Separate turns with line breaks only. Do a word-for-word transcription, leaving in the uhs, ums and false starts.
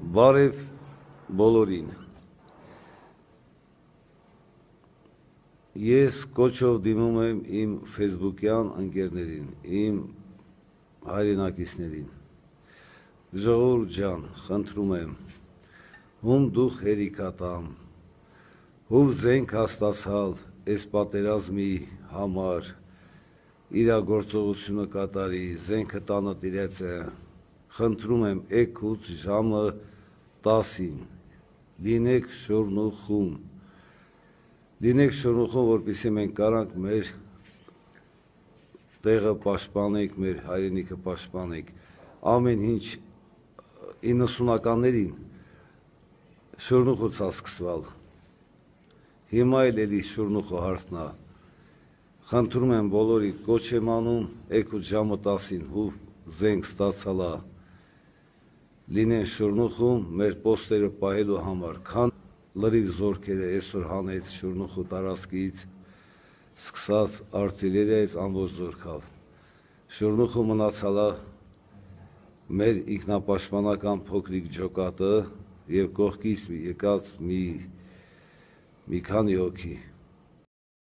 Բարև բոլորին։ Ես կոչով դիմում եմ իմ ֆեյսբուքյան ընկերներին, իմ հայրենակիցներին։ Ժողովուրդ ջան, խնդրում եմ, ում դուխ հերիքատամ, ով զենք հաստացալ այս պատերազմի համար, իրագործողությունը կատարի, զենքը տանը տիրեց է, խնդրում եմ էգուց ժամը տասին, լինեք շուրնուխում, լինեք շուրնուխում, որպեսզի մենք կարանք մեր տեղը պաշտպանենք, մեր հայրենիքը պաշտպանենք, ամեն ինչ իննսունականներին շուրնուխուց է սկսվել, հիմա էլ էլի շուրնուխը հարցնա, խնդրում եմ բոլորի կոչ եմ անում, էգուց ժամը տասին հով զենք ստացալա, լինեն շուրնուխում մեր պոստերը պահելու համար, քան լրիվ զորքերը այսօր հանեց շուրնուխու տարածքից, սկսած արտիլերիայից ամբողջ զորքով, շուրնուխու մնացալա մեր ինքնապաշտպանական փոքրիկ ջոկատը և կողքից եկած մի քանի հոգի,